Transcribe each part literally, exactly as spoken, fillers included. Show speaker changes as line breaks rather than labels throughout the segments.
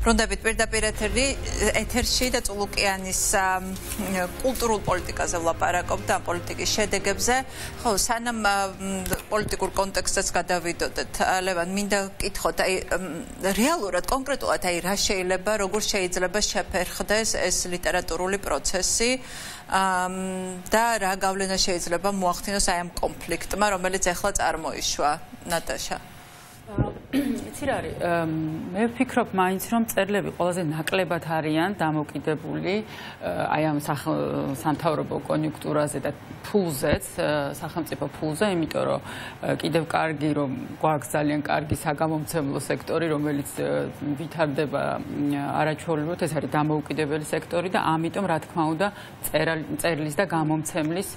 ბრუნდებით პირდაპირ ეთერი ეთერში და წულუკიანის კულტურულ პოლიტიკაზე ვლაპარაკობთ და პოლიტიკის შედეგებზე. ხო, სანამ პოლიტიკურ კონტექსტსაც გადავიდოდეთ, ლევან, მინდა გკითხოთ, აი რეალურად კონკრეტულად აი რა შეიძლება, როგორ შეიძლება შეფერხდეს ეს ლიტერატურული პროცესი და რა გავლენა შეიძლება მოახდინოს აი ამ კონფლიქტმა, რომელიც ახლა წარმოიშვა, ნატაშა.
იცი რა არის, მე ვფიქრობ მაინც რომ წერლები ყველაზე ნაკლებად არიან დამოკიდებული აი ამ სამთავრობო კონიუნქტურაზე და ფულზეც, სახელმწიფო ფულზე, იმიტომ რომ კიდევ კარგი რომ გვაქვს ძალიან კარგი საგამომცემლო სექტორი, რომელიც ვითარდება არაჩვეულებრივად, ეს არის დამოუკიდებელი სექტორი და ამიტომ რა თქმა უნდა წერლის და გამომცემლის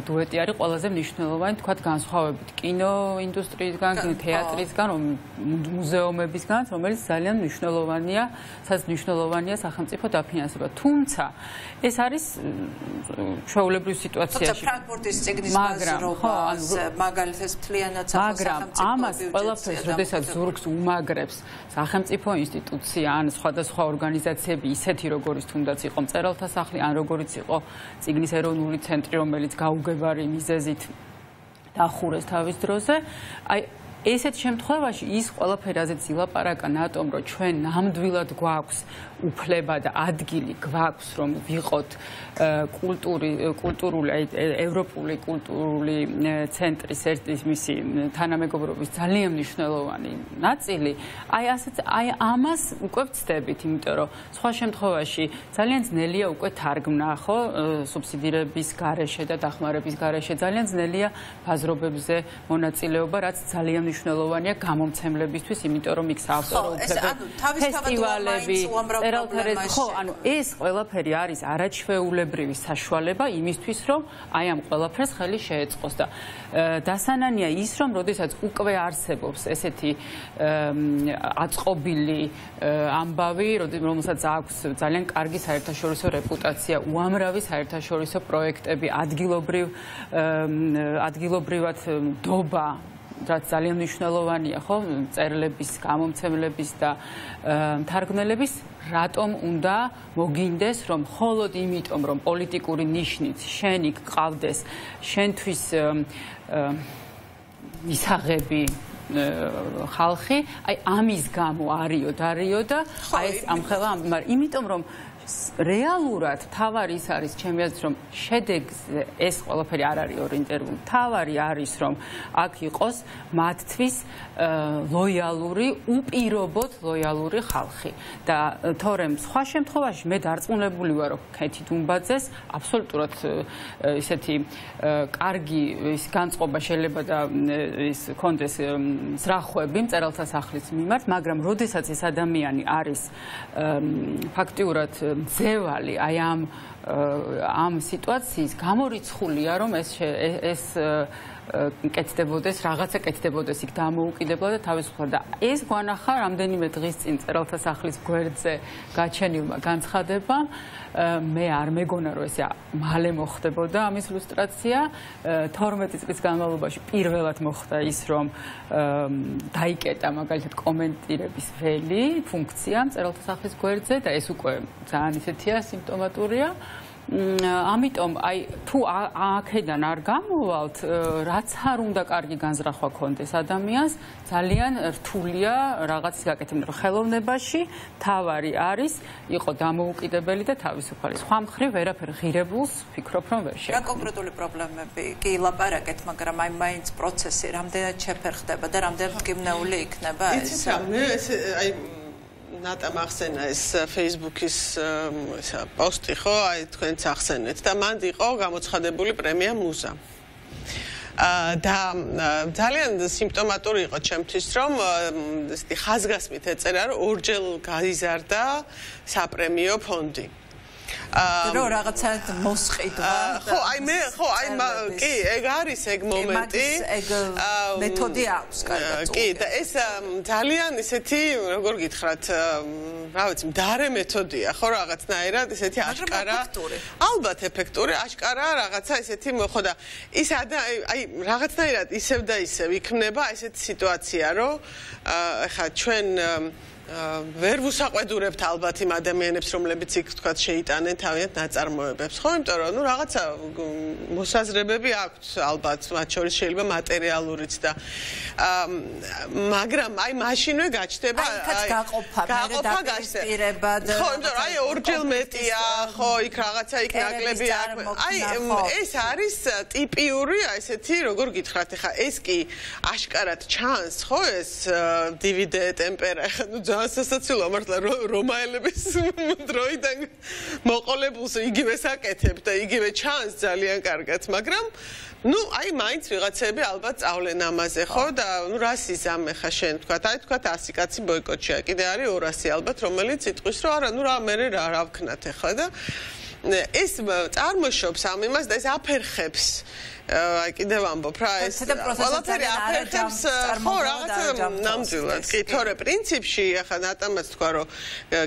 დუეტი არის ყველაზე მნიშვნელოვანი, თქვათ განსხვავებით კინო ინდუსტრიისგან, თეატრისგან, მუზეუმებისგან, რომელიც ძალიან მნიშვნელოვანია, სადაც მნიშვნელოვანია სახელმწიფო დაფინანსება. თუმცა ეს არის ჩვეულებრივ სიტუაციაში.
ფრანკფურტის წიგნის ბაზრობას, მაგალითად მთლიანად სახელმწიფო
ამას ყველაფერს, როდესაც ზურგს უმაგრებს სახელმწიფო ინსტიტუცია ან სხვადასხვა ორგანიზაციები, ისეთი როგორიც თუნდაც იყო მწერალთა სახლი, ან როგორიც იყო წიგნის ეროვნული ცენტრი, რომელიც გაუგებარი მიზეზით დახურეს თავის დროზე, აი ესეთ შემთხვევაში ის ყველაფერი რაზეც ილაპარაკა ნატომ, რომ ჩვენ ნამდვილად გვაქვს უფლება და ადგილი გვაქვს, რომ ვიყოთ კულტური, კულტურული, ევროპული კულტურული ცენტრის ერთის მისი თანამეგობრობის ძალიან მნიშვნელოვანი ნაწილი, აი ასეც აი ამას უკვე ვცდებით, იმიტომ რომ სხვა შემთხვევაში ძალიან ძნელია უკვე თარგმნა, ხო, სუბსიდირების გარეშე და დახმარების გარეშე ძალიან ძნელია ბაზრობებზე მონაწილეობა, რაც ძალიან მნიშვნელოვანია გამომცემლებისთვის, იმიტომ რომ იქ საავტორო უფლებები, ფესტივალები, წერალთა ხო, ანუ ეს ყველაფერი არის არაჩვეულებრივი საშუალება იმისთვის, რომ აი ამ ყველაფერს ხელი შეეწყოს და დასანანია ის, რომ როდესაც უკვე არსებობს ესეთი აწყობილი ამბავი, რომელსაც აქვს ძალიან კარგი საერთაშორისო რეპუტაცია, უამრავი საერთაშორისო პროექტები, ადგილობრივ ადგილობრივად ნდობა, რაც ძალიან მნიშვნელოვანია, ხო, წერლების, გამომცემლების და მთარგმნელების, რატომ უნდა მოგინდეს, რომ მხოლოდ იმიტომ, რომ პოლიტიკური ნიშნით შენი გყავდეს, შენთვის მისაღები ხალხი, აი ამის გამო არიო დარიო და აი ეს ამხელა, მაგრამ იმიტომ რომ რეალურად თავარი ის არის ჩემი აზრით, რომ შედეგზე ეს ყველაფერი არ არის ორიენტირებული. თავარი არის, რომ აქ იყოს მათთვის ლოიალური, უპირობოდ ლოიალური ხალხი. და თორემ სხვა შემთხვევაში მე დარწმუნებული ვარ, რომ ქეთი დუმბაძეს აბსოლუტურად ისეთი კარგი ის განწყობა შეიძლება და ის კონდეს ზრახვები მწერალთა სახლის მიმართ, მაგრამ როდესაც ეს ადამიანი არის ფაქტიურად მძევალი აი ამ ამ სიტუაციის გამორიცხულია, რომ ეს ეს კეთდებოდეს, რაღაცა კეთდებოდეს იქ დამოუკიდებლად და თავისუფლად და ეს გვანახა რამდენიმე დღის წინ მწერალთა სახლის გვერდზე გაჩენილმა განცხადებამ, მე არ მეგონა რომ ეს მალე მოხდებოდა ამის ილუსტრაცია, თორმეტი წლის განმავლობაში პირველად მოხდა ის, რომ დაიკეტა მაგალითად კომენტირების ველი ფუნქცია მწერალთა სახლის გვერდზე და ეს უკვე ძალიან ისეთია სიმპტომატურია. ამიტომ აი თუ აქედან არ გამოვალთ, რაც არ უნდა კარგი განზრახვა ქონდეს ადამიანს, ძალიან რთულია რაღაცის გაკეთება, რომ ხელოვნებაში თავარი არის იყო დამოუკიდებელი და თავისუფალი. სხვა მხრივ ვერაფერ ღირებულს ვფიქრობ, რომ ვერ შეგვიძლია.
რა კონკრეტული პრობლემები კი ლაპარაკეთ, მაგრამ აი მაინც პროცესი რამდენად შეფერხდება და რამდენად მტკივნეული იქნება ეს?
იცით რა, მე ეს აი ნატამ ახსენა ეს Facebook-ის პოსტი, ხო, აი თქვენც ახსენეთ და მანდ იყო გამოცხადებული პრემია მუზა. და ძალიან სიმპტომატური იყო ჩემთვის, რომ ესეთი ხაზგასმით ეწერა, რომ ორჯერ გაიზარდა საპრემიო ფონდი.
რომ რაღაცა მოსყიდვა
ხო აი მე ხო აი კი ეგ არის ეგ მომენტი
ეგ მეთოდი აქვს კარგად
კი და ეს ძალიან ისეთი როგორ გითხრათ რა ვიცი მდარე მეთოდია ხო რაღაცნაირად ისეთი აშკარა ალბათ ეფექტური აშკარა რაღაცა ისეთი ხო და ის აი რაღაცნაირად ისევ და ისევ იქნება ესეთი სიტუაცია რომ ეხლა ჩვენ ვერ ვუსაყვედურებთ ალბათ იმ ადამიანებს რომლებიც იქ თქვათ შეიტანენ თავიანთ ნაწარმოებებს ხო იმიტომ რომ ნუ რაღაცა მოსაზრებები აქვთ ალბათ მათ შორის შეიძლება მატერიალურიც და მაგრამ აი მაშინვე გაჩნდება
აი გაყოფა გაყოფა
გაჩნდება ხო იმიტომ რომ აი ორჯერ მეტია ხო იქ რაღაცა იქ ნაკლები აი ეს არის ტიპიური აი ესეთი როგორ გითხრათ ეხა ეს კი აშკარად ჩანს ხო ეს დივიდე ტემპერა ეხა ნუ სასაცილოა მართლა რომაელების დროიდან მოყოლებულს იგივე საკეთებ და იგივე ჩანს ძალიან კარგად მაგრამ ну აი მაინც ვიღაცები ალბათ წავლენ ამაზე ხო და ну რას იზამ ხა შენ თქვა აი თქვა ასი კაცი ბოიკოტშია კიდე არის ორასი ალბათ რომელიც იტყვის რომ არა ну რა მე რა რა ვქნათ ხა და ეს წარმოშობს ამ იმას და ეს აფერხებს აი კიდევ ამბობ რა ეს ყველაფერი აფერხებს ხო რაღაცა ნამდვილად კი თორე პრინციპში ახლა ნატამაც თქვა რომ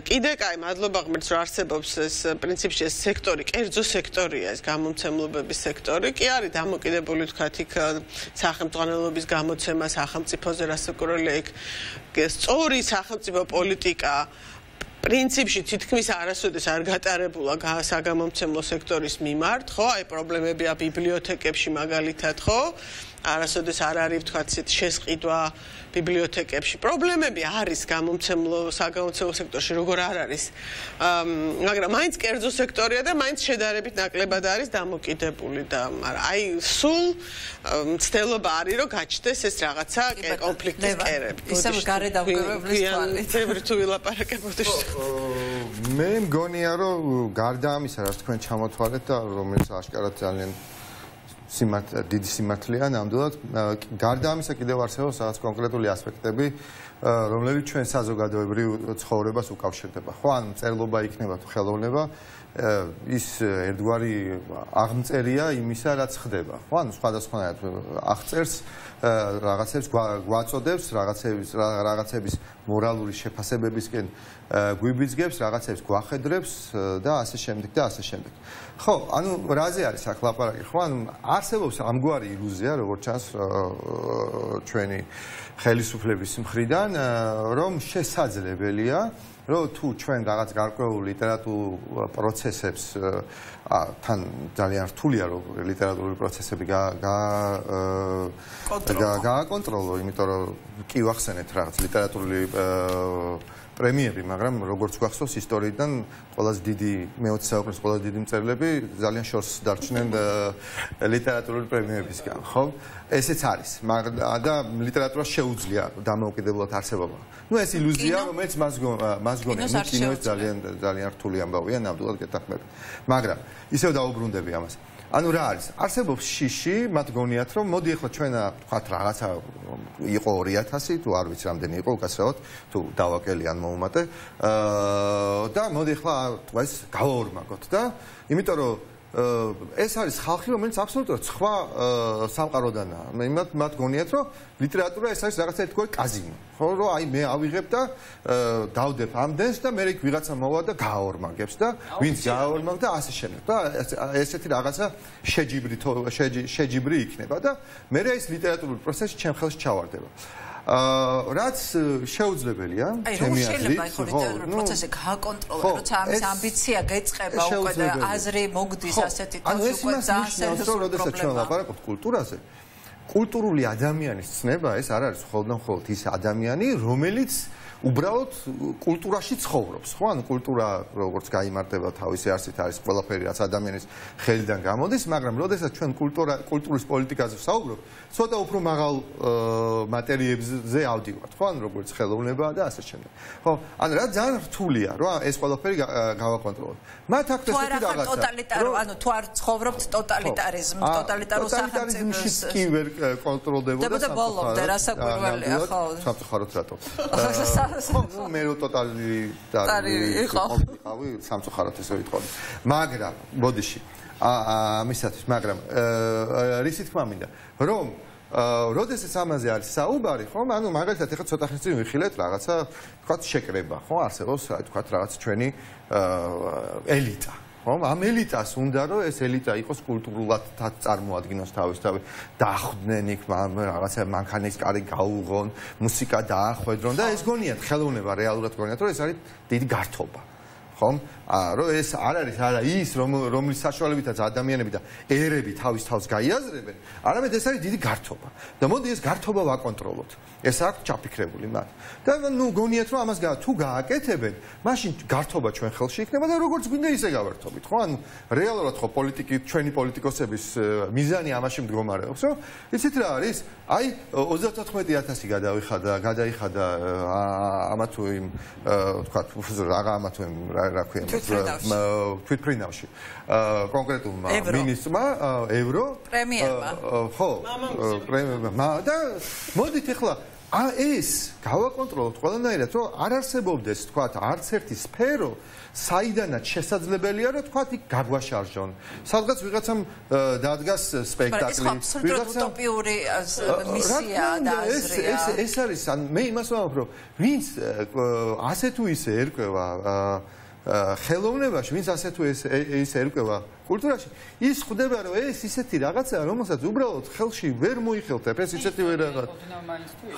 კიდე კაი მადლობა ღმერთს რომ არსებობს ეს პრინციპში ეს სექტორი კერძო სექტორია ეს გამომცემლობების სექტორი კი არის დამოკიდებული თქვა იქ სახელმწიფოების გამოცემა სახელმწიფოზე რასაკურველია იქ სწორი სახელმწიფო პოლიტიკა პრინციპში თითქმის არასოდეს არ გატარებულა საგამომცემლო სექტორის მიმართ, ხო? აი პრობლემებია ბიბლიოთეკებში მაგალითად, ხო? არასოდეს არ არის თქვა ისეთი შესყიდვა ბიბლიოთეკებში. პრობლემები არის გამომცემლო საგამომცემლო სექტორში, როგორ არ არის. მაგრამ მაინც კერძო სექტორია და მაინც შედარებით ნაკლებად არის დამოკიდებული და მაგრამ აი სულ მცდელობა არის რომ გაჩნდეს ეს რაღაცა კონფლიქტის კერები.
ისევ გარე დავკვირვებლის თვალით.
ბევრი თუ ვილაპარაკებოდი.
მე მგონია რომ გარდა ამისა რაც თქვენ ჩამოთვალეთ და რომელიც აშკარად ძალიან სიმართ დიდი სიმართლეა ნამდვილად გარდა ამისა კიდევ არსებობს რაღაც კონკრეტული ასპექტები რომლებიც ჩვენ საზოგადოებრივ ცხოვრებას უკავშირდება ხო ან წერლობა იქნება თუ ხელოვნება ის ერთგვარი აღმწერია იმისა რაც ხდება ხო ან სხვადასხვანაირად აღწერს რაღაცებს გვაწოდებს რაღაცების რაღაცების მორალური შეფასებებისკენ გვიბიძგებს რაღაცებს გვახედრებს და ასე შემდეგ და ასე შემდეგ ხო ანუ რაზე არის აქ ლაპარაკი ხო ანუ არსებობს ამგვარი ილუზია როგორც ჩანს ჩვენი ხელისუფლების მხრიდან რომ შესაძლებელია რომ თუ ჩვენ რაღაც გარკვეულ ლიტერატურულ პროცესებს თან ძალიან რთულია რომ ლიტერატურული პროცესები გააკონტროლო, იმიტომ რომ კი ვახსენეთ რაღაც ლიტერატურული პრემიები, მაგრამ როგორც გვახსოვს ისტორიიდან ყველაზე დიდი მეოცე საუკუნის ყველაზე დიდი მწერლები ძალიან შორს დარჩნენ ლიტერატურული პრემიებისგან, ხო? ესეც არის, მაგრამ და ლიტერატურა შეუძლია დამოუკიდებლად არსებობა. ნუ ეს ილუზია, რომელიც მას მას გონია, ნუ კინოც ძალიან ძალიან რთული ამბავია, ნამდვილად გეთანხმებით. მაგრამ ისევ დაუბრუნდები ამას. ანუ რა არის? არსებობს შიში, მათ გონიათ რომ მოდი ახლა ჩვენ თქვათ რაღაცა იყო ორი ათასი, თუ არ ვიცი რამდენი იყო უკაცრავად, თუ დავაკელი ან მოუმატე. აა და მოდი ახლა თქვა ეს გავაორმაგოთ და იმიტომ რომ ეს არის ხალხი, რომელიც აბსოლუტურად სხვა სამყაროდანაა. იმათ მათ გონიათ, რომ ლიტერატურა ეს არის რაღაცა ერთგვარი კაზინო. ხო, რომ აი მე ავიღებ და დავდებ ამდენს და მე იქ ვიღაცა მოვა და გააორმაგებს და ვინც გააორმაგ და ასე შემდეგ. და ესეთი რაღაცა შეჯიბრი შეჯიბრი იქნება და მე ეს ლიტერატურული პროცესი ჩემ ხელში ჩავარდება. აა რაც შეუძლებელია ჩემი აზრით
ხო ლიტერატურული პროცესი გააკონტროლო როცა ამის ამბიცია გეწყება უკვე და აზრი მოგდის ასეთი თავს უკვე ძალიან სერიოზული
პრობლემაა. ჩვენ ვაპარაკობთ კულტურაზე. კულტურული ადამიანის ცნება ეს არ არის მხოლოდ მხოლოდ ის ადამიანი, რომელიც უბრალოდ კულტურაში ცხოვრობს, ხო? ანუ კულტურა როგორც გაიმართება თავისი არსით არის ყველაფერი რაც ადამიანის ხელიდან გამოდის, მაგრამ როდესაც ჩვენ კულტურა კულტურის პოლიტიკაზე ვსაუბრობთ, ცოტა უფრო მაღალ მატერიებზე ავდივართ, ხო? ანუ როგორც ხელოვნებაა და ასე შემდეგ. ხო? ანუ რა ძალიან რთულია, რა ეს ყველაფერი გავაკონტროლოთ. მათ აქვს ესეთი რაღაცა.
ტოტალიტარო, ანუ თუ არ ცხოვრობთ ტოტალიტარიზმ, ტოტალიტარო
სახელმწიფოს კი ვერ კონტროლდებოდა
და ბოლომდე რასაკვირველია, ხო?
სამწუხაროდ რატო? ხო, მე რო ტოტალიტარი იყავი, სამწუხაროდ ესე ვიტყოდი. მაგრამ, ბოდიში, ამისათვის, მაგრამ რისი თქმა მინდა, რომ როდესაც ამაზე არის საუბარი, ხო? ანუ მაგალითად ეხლა ცოტა ხნის წინ ვიხილეთ რაღაცა, თქვათ შეკრება, ხო? არსებობს, აი თქვათ რაღაც ჩვენი ელიტა. ხომ ამ ელიტას უნდა რომ ეს ელიტა იყოს კულტურულად წარმოადგინოს თავისთავად დახვდნენ იქ რაღაცა მანქანის კარი გაუღონ მუსიკა დაახვედრონ და ეს გონიათ ხელოვნება რეალურად გონიათ რომ ეს არის დიდი გართობა ხომ რომ ეს არ არის არა ის რომლის საშუალებითაც ადამიანები და ერები თავის თავს გაიაზრებენ არამედ ეს არის დიდი გართობა და მოდი ეს გართობა ვაკონტროლოთ ეს აქვს ჩაფიქრებული მათ და ნუ გონიათ რომ ამას თუ გააკეთებენ მაშინ გართობა ჩვენ ხელში იქნება და როგორც გვინდა ისე გავართობით ხო ანუ რეალურად ხო პოლიტიკი ჩვენი პოლიტიკოსების მიზანი ამაში მდგომარეობს რომ იცით რა არის აი ოცდათოთხმეტი ათასი გადავიხადა გადაიხადა ამა თუ იმ თქვა რაღა ამა თუ იმ რა ქვია თვითფრინავში კონკრეტულმა მინისტრმა ევრო
პრემიერმა
ხო პრემიერმა და მოდით ახლა ეს გავაკონტროლოთ ყველანაირად რომ არ არსებობდეს თქვა არც ერთი სფერო საიდანაც შესაძლებელია რომ თქვა იქ გაგვაშარჟონ სადღაც ვიღაცამ დადგას სპექტაკლი
ვიღაცამ უტოპიური მისია და აზრია
ეს ეს არის მე იმას ვამბობ რომ ვინც ასე თუ ისე ერკვევა ხელოვნებაში ვინც ასე თუ ისე ერკვევა კულტურაში ის ხვდება რომ ეს ისეთი რაღაცაა რომელსაც უბრალოდ ხელში ვერ მოიხელთებ ეს ისეთი ვერ რაღაც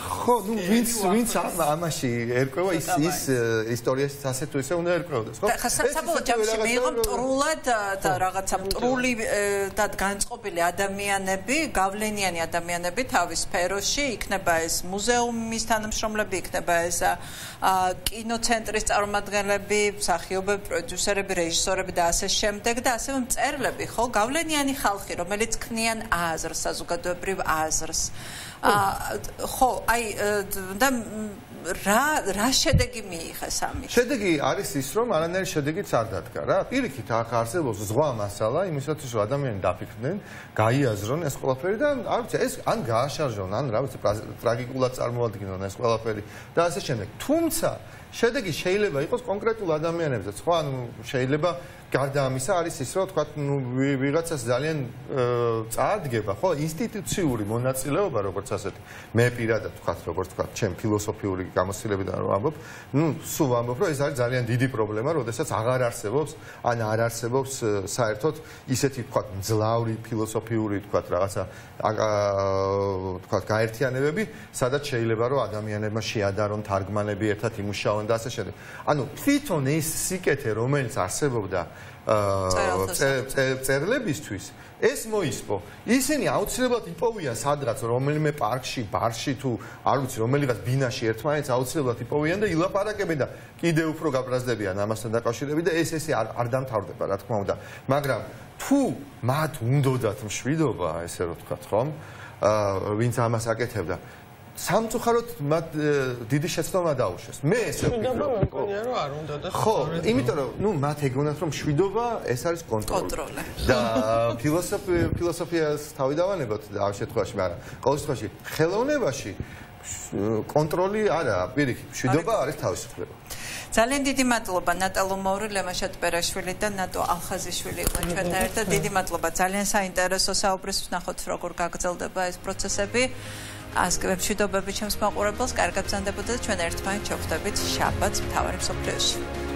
ხო ნუ ვინც ვინც ამაში ერკვევა ის ის ისტორიაში ასე თუ ისე უნდა ერკვევდეს ხო
ხა საბოლოო ჯამში მეიღო მტრულად და რაღაცა მტრული და განწყობილი ადამიანები გავლენიანი ადამიანები თავის სფეროში იქნება ეს მუზეუმის თანამშრომლები იქნება ეს კინოცენტრის წარმომადგენლები მსახიობები პროდიუსერები რეჟისორები და ასე შემდეგ და ასევე წერლები ხო გავლენიანი ხალხი რომელიც ქმნიან აზრს საზოგადოებრივ აზრს ხო აი და რა რა შედეგი მიიღეს ამის
შედეგი არის ის რომ არანაირი შედეგიც არ დადგა რა პირიქით ახ არსებობს ზღვა მასალა იმისათვის რომ ადამიანები დაფიქრდნენ გაიაზრონ ეს ყველაფერი და არ ვიცი ეს ან გააშარჟონ ან რა ვიცი ტრაგიკულად წარმოადგინონ ეს ყველაფერი და ასე შემდეგ თუმცა შედეგი შეიძლება იყოს კონკრეტულ ადამიანებზეც ხო ანუ შეიძლება გარდა ამისა არის ის რომ თქვა ნუ ვიღაცას ძალიან წარდგება ხო ინსტიტუციური მონაწილეობა როგორც ასეთი მე პირადად თქვა როგორც თქვა ჩემ ფილოსოფიური გამოცდილებიდან რომ ამბობ ნუ სულ ამბობ რომ ეს არის ძალიან დიდი პრობლემა როდესაც აღარ არსებობს ან არ არსებობს საერთოდ ისეთი თქვა მძლავრი ფილოსოფიური თქვა რაღაცა თქვა გაერთიანებები სადაც შეიძლება რომ ადამიანებმა შეადარონ თარგმანები ერთად იმუშაონ და ასე შემდეგ ანუ თვითონ ეს სიკეთე რომელიც არსებობდა წერლებისთვის ეს მოისპო ისინი აუცილებლად იპოვიან სადღაც რომელიმე პარკში ბარში თუ არ ვიცი რომელიღაც ბინაში ერთმანეთს აუცილებლად იპოვიან და ილაპარაკებენ და კიდევ უფრო გაბრაზდებიან ამასთან დაკავშირებით და ეს ესე არ დამთავრდება რა თქმა უნდა მაგრამ თუ მათ უნდათ მშვიდობა ესე რომ ვთქვათ ხომ ვინც ამას აკეთებდა სამწუხაროდ მათ დიდი შეცდომა დაუშვეს. მე ესე ვფიქრობ. ხო, იმიტომ რომ ნუ მათ ეგონათ რომ მშვიდობა ეს არის კონტროლი. და ფილოსოფია ფილოსოფიას თავი დავანებოთ და ამ შემთხვევაში, მაგრამ ყოველ შემთხვევაში ხელოვნებაში კონტროლი არაა, პირიქით, მშვიდობა არის თავისუფლება.
ძალიან დიდი მადლობა ნატალო მოური, ლემა შატბერაშვილი და ნატო ალხაზიშვილი იყო ჩვენთან ერთად. დიდი მადლობა. ძალიან საინტერესო საუბრის ვნახოთ როგორ გაგრძელდება ეს პროცესები. ასკებ მშვიდობები ჩემს მაყურებელს, კარგად ბრძანდებოდა და ჩვენ ერთმანეთს შევხვდებით შაბათს მთავარი მსოფლიოში.